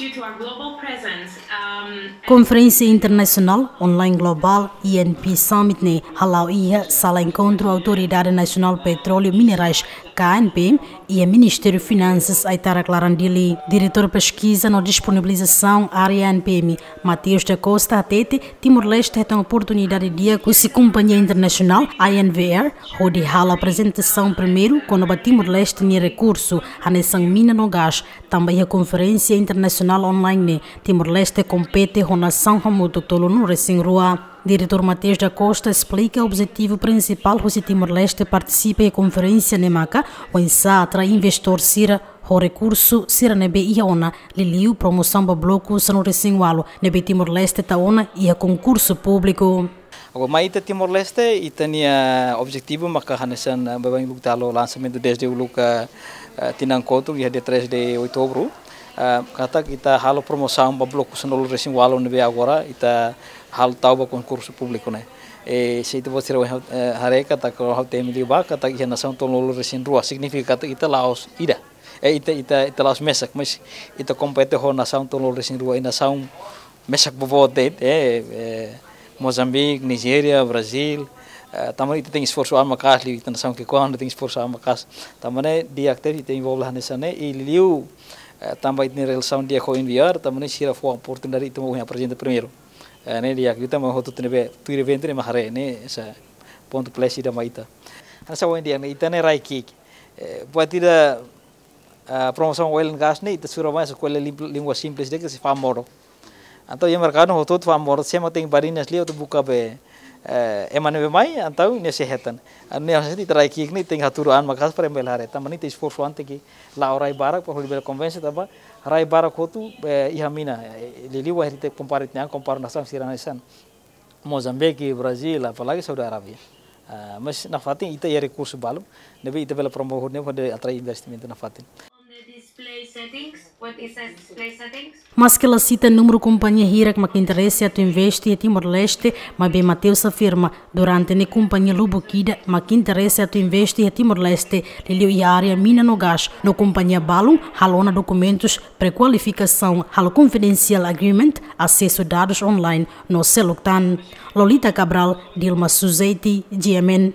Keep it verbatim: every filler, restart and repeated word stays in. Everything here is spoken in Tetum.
Due to our global presence, um, Konferénsia Internasionál Online Global, I N P Summit ne'e hala'o iha Sala Enkontru Autoridade Nasionál Petróleu Minerais, K N P M, iha Ministériu Finansas, Aitarak Laran, Dili. Diretór Peskiza no Disponibilizasaun Área N P M, Mateus da Costa, hatete Timor-Leste hetan oportunidade di'ak husi kompañia internasionál I N V R hodi halo aprezentasaun primeiru kona-ba Timor-Leste nia rekursu, hanesan mina no gás, tanba iha konferénsia internasionál online ne'e Timor-Leste kompete ho nasaun hamutuk tolunulu-resin-rua. Diretór Mateus da Costa esplika objetivu prinsipál husi Timor-Leste partisipa iha konferénsia ne'e maka oinsá atrai investidór sira ho rekursu sira ne'ebé iha ona, liuliu promosaun ba bloku sanulu-resin-ualu ne'ebé Timor-Leste tau ona iha konkursu públiku. Agora, mai ita Timor-Leste, ita-nia objetivu maka hanesan, eh, baibain uluk ita halo lansamentu desde uluk, eh, eh, tinan kotuk iha dia três de outubro. Eh, katak ita halo promosaun ba bloku sanulu-resin-ualu ne'ebé agora ita halo tau ba konkursu públiku ne'e. E se ita-boot sira, eh, haree katak ha'u temi liubá katak iha nasaun tolunulu-resin-rua, signifika katak ita la'ós ida. Eh, ita, ita, ita la'ós mesak, mas ita kompete ho nasaun tolunulu-resin-rua, i nasaun mesak boboot de'it, eh, eh, Mozambique, Nigéria, Brazíl, eh, tanba ita tenke esforsu an maka'as liu, ita nasaun ki'ikoan ita tenke esforsu an maka'as. Tanba ne'e di'ak tebes ita envolve hanesan ne'e, i liu, eh, tanba ita-nia relasaun di'ak ho I N V R, tanba ne'e sira fó oportunidade ita mak ohin aprezenta primeiru. Eh, ne'e di'ak, ita mak hotu-hotu ne'ebé tuir eventu ne'e mak haree, ne'e hanesan pontu plus ida mai ita. Hanesan ohin dehan ne'e, ita ne'e rai ki'ik. Eh, buat ida, ah, promosaun oil and gas ne'e, ita sura mai, eskolla lim-, língua simples de'it, ke se fa'an modo. Entaun iha merkadu hotu-hotu fa'an modo, se ema tenke badinas liu atu buka be, eh, ema ne'ebé mai, entaun nia sei hetan. Entaun ne'e hanesan ita rai ki'ik ne'e, tenke hatudu an maka'as para ema bele haree. Tanba ne'e ita esforsu an tenke la'o rai barak, para hodi bele konvense tanba rai barak hotu, eh, iha mina, eh, liuliu wainhira ita kompara, ita kompara nasaun sira hanesan Mozambique, Brazíl, apalagi Saudi Arabia. Ah, mas nafatin ita iha rekursu balu ne'ebé ita bele promove ne'e hodi atrai investimentu nafatin. On the display settings, what is the display settings? Maske la sita númeru kompañia hirak mak interese atu investe iha Timor-Leste, maibé Mateus afirma, durante ne'e kompañia lubuk ida mak interese atu investe iha Timor-Leste, liuliu iha área mina no gás, no kompañia balun halo ona dokumentus prekualifikasaun, halo confidential agreement, asesu dadus online no seluk tan. Lolita Cabral, Dilma Suzeti, G M N,